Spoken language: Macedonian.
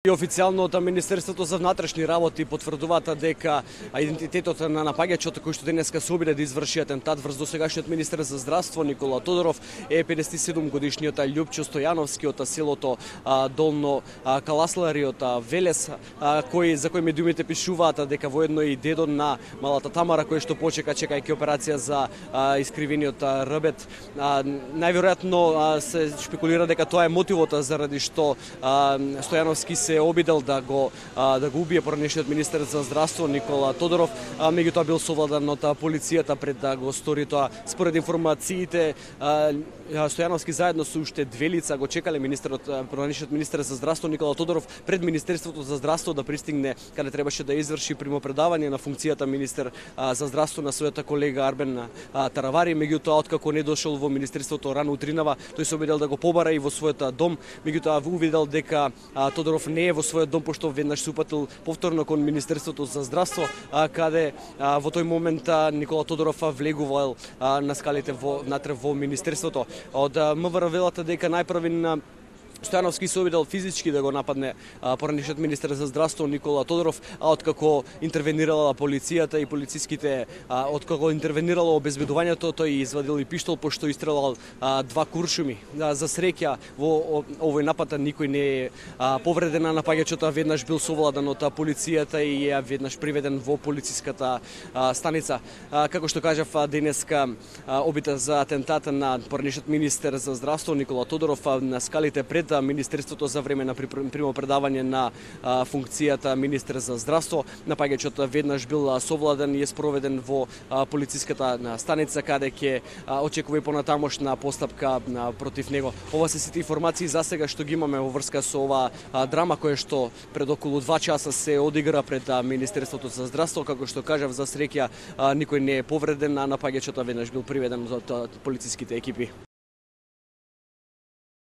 И официјално од Министерството за внатрешни работи потврдуваат дека идентитетот на напаѓачот кој што денеска се обиде да изврши атентат врз досегашниот министер за здравство Никола Тодоров е 57-годишниот Љупчо Стојановски од селото Долно Каласлари од Велес, за кој медиумите пишуваат дека воедно и дедо на малата Тамара кој што почека чекајќи операција за искривениот рбет. Најверојатно се шпекулира дека тоа е мотивот заради што Стојановски се обидел да го убие поранешниот министер за здравство Никола Тодоров, меѓутоа бил совладан од полицијата пред да го стори тоа. Според информациите, Стојановски заедно со уште две лица го чекале поранешниот министер за здравство Никола Тодоров пред Министерството за здравство да пристигне каде требаше да изврши примопредавање на функцијата министер за здравство на својата колега Арбен Таравари. Меѓутоа, откако не дошол во Министерството рано утринава, тој се обидел да го побара и во својот дом, меѓутоа увидел дека Тодоров не е во својот дом, пошто веднаш се упатил повторно кон Министерството за здравство, каде во тој момент Никола Тодоров влегувал на скалите внатре во Министерството. Од МВР велат дека најпрвен Стојановски се обидел физички да го нападне поранешниот министер за здравство Никола Тодоров, а откако интервенирала полицијата и полициските, откако интервенирало обезбедувањето, тој извадил и пиштол пошто истрелал два куршуми. За среќа во овој напад никој не е повреден, на напаѓачот веднаш бил совладан од полицијата и е веднаш приведен во полициската станица. Како што кажав, денеска обита за атентат на поранешниот министер за здравство Никола Тодоров на скалите пред Министерството за време на примопредавање на функцијата министер за здравство. Напаѓачот веднаш бил совладан и е спроведен во полициската станица каде ќе очекува и понатамошна постапка против него. Ова се сите информации за сега што ги имаме во врска со оваа драма која што пред околу 2 часа се одигра пред Министерството за здравство. Како што кажав, за среќа никој не е повреден, а напаѓачот веднаш бил приведен од полициските екипи.